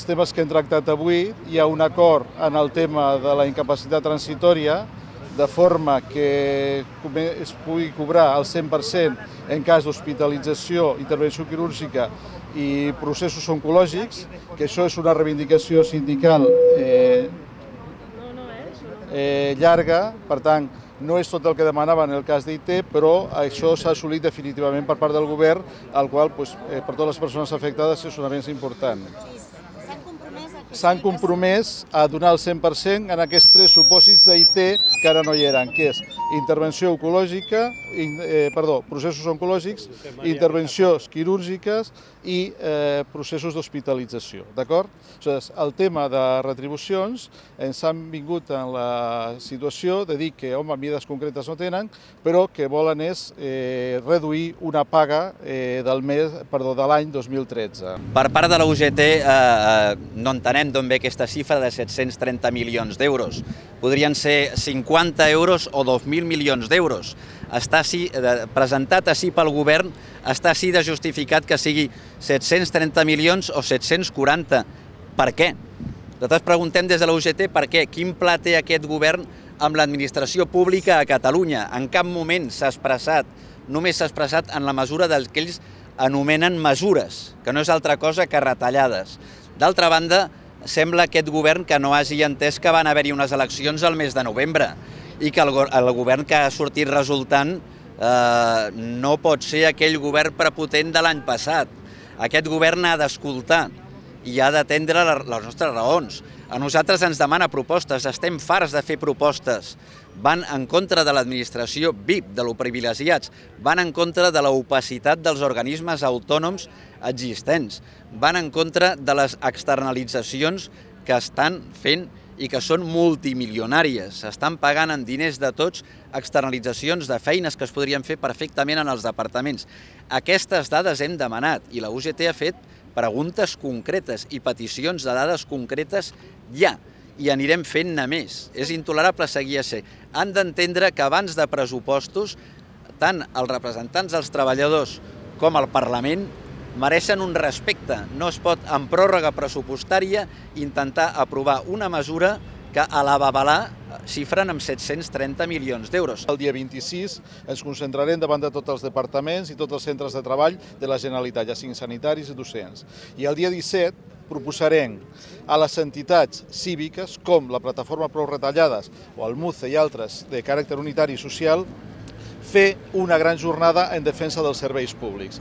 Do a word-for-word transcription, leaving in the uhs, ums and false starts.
dels temes que hem tractat avui hi ha un acord en el tema de la incapacitat transitòria, de forma que es pugui cobrar el cent per cent en cas d'hospitalització, intervenció quirúrgica i processos oncològics, que això és una reivindicació sindical eh, eh, llarga, per tant, no és tot el que demanaven en el cas d'I T, però això s'ha assolit definitivament per part del govern, al qual doncs, eh, per totes les persones afectades és un avenç important. S'han compromès a donar el cent per cent en aquests tres supòsits d'I T que ara no hi eren, que és intervenció oncològica, eh, perdó, processos oncològics, intervencions quirúrgiques i eh, processos d'hospitalització, d'acord? El tema de retribucions ens han vingut en la situació de dir que, home, mides concretes no tenen, però que volen és eh, reduir una paga eh, del mes, perdó, de l'any dos mil tretze. Per part de la U G T eh, no entenem d'on ve aquesta xifra de set-cents trenta milions d'euros. Podrien ser cinquanta euros o dos mil milions d'euros. Està així, presentat així pel govern, està així de justificat que sigui set-cents trenta milions o set-cents quaranta. Per què? Nosaltres preguntem des de la U G T per què. Quin pla té aquest govern amb l'administració pública a Catalunya? En cap moment s'ha expressat, només s'ha expressat en la mesura del que ells anomenen mesures, que no és altra cosa que retallades. D'altra banda, sembla aquest govern que no hagi entès que van haver-hi unes eleccions al mes de novembre i que el, el govern que ha sortit resultant eh, no pot ser aquell govern prepotent de l'any passat. Aquest govern ha d'escoltar i ha d'atendre les nostres raons. A nosaltres ens demana propostes, estem farts de fer propostes. Van en contra de l'administració V I P, de lo privilegiats, van en contra de l'opacitat dels organismes autònoms existents, van en contra de les externalitzacions que estan fent i que són multimilionàries. S'estan pagant en diners de tots externalitzacions de feines que es podrien fer perfectament en els departaments. Aquestes dades hem demanat i la U G T ha fet preguntes concretes i peticions de dades concretes ja, i anirem fent-ne més. És intolerable seguir a ser. Han d'entendre que abans de pressupostos, tant els representants dels treballadors com el Parlament mereixen un respecte. No es pot, en pròrroga pressupostària, intentar aprovar una mesura que a la babalà xifren amb set-cents trenta milions d'euros. El dia vint-i-sis ens concentrarem davant de tots els departaments i tots els centres de treball de la Generalitat, ja siguin sanitaris i docents. I el dia disset proposarem a les entitats cíviques, com la Plataforma Prou Retallades o el MUCE i altres de caràcter unitari i social, fer una gran jornada en defensa dels serveis públics.